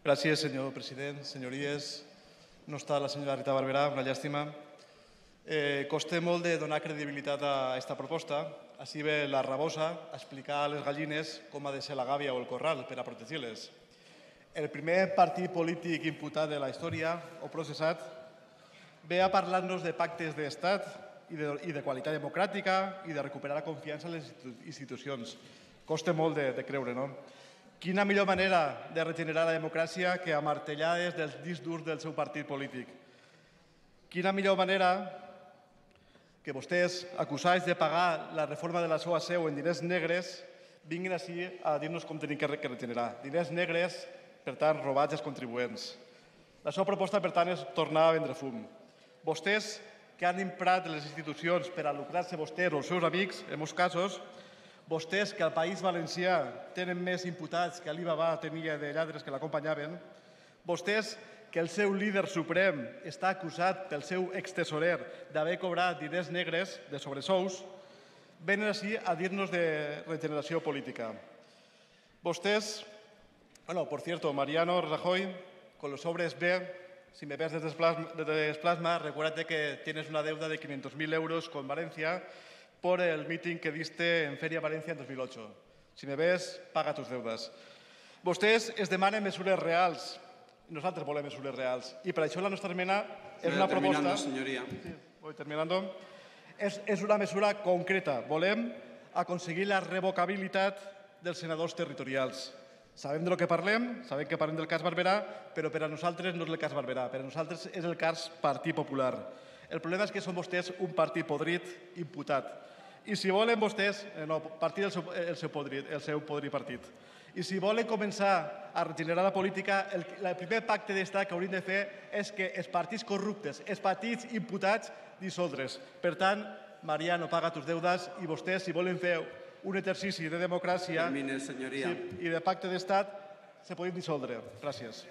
Gràcies, senyor president. Senyories, no està la senyora Rita Barberà, una llàstima. Costa molt de donar credibilitat a aquesta proposta. Així ve la rabosa a explicar a les gallines com ha de ser la gàbia o el corral per a protegir-les. El primer partit polític imputat de la història o processat ve a parlar-nos de pactes d'estat i de qualitat democràtica i de recuperar la confiança en les institucions. Costa molt de creure, no? Quina millor manera de regenerar la democràcia que a martellades dels discs durs del seu partit polític. Quina millor manera que vostès, acusats de pagar la reforma de la seva seu en diners negres, vinguin així a dir-nos com tenim que regenerar. Diners negres, per tant, robats als contribuents. La seva proposta, per tant, és tornar a vendre fum. Vostès, que han emprat les institucions per a lucrar-se vostès o els seus amics, en molts casos, vostès, que al País Valencià tenen més imputats que Alibaba tenia de lladres que l'acompanyaven, vostès, que el seu líder suprem està acusat pel seu extesorer d'haver cobrat diners negres de sobresous, venen així a dir-nos de regeneració política. Vostès, por cierto, Mariano Rajoy, con los sobres B, si me ves desde Plasma, recuérdate que tienes una deuda de 500.000 euros con Valencia por el meeting que diste en Feria Valencia en 2008. Si me ves, paga tus deudas. Vostès es demanen mesures reals. Nosaltres volem mesures reals. I per això la nostra esmena és una proposta... Terminando, señoría. Sí, voy terminando. És una mesura concreta. Volem aconseguir la revocabilitat dels senadors territorials. Sabem de lo que parlem, sabem que parlem del cas Barberà, però per a nosaltres no és el cas Barberà, per a nosaltres és el cas Partit Popular. El problema és que són vostès un partit podrit imputat. I si volen vostès, partir el seu podrit partit. I si volen començar a regenerar la política, el primer pacte d'estat que haurien de fer és que els partits corruptes, els partits imputats, dissoldre's. Per tant, Mariano, paga tus deudas i vostès, si volen fer un exercici de democràcia i de pacte d'estat, se poden dissoldre. Gràcies.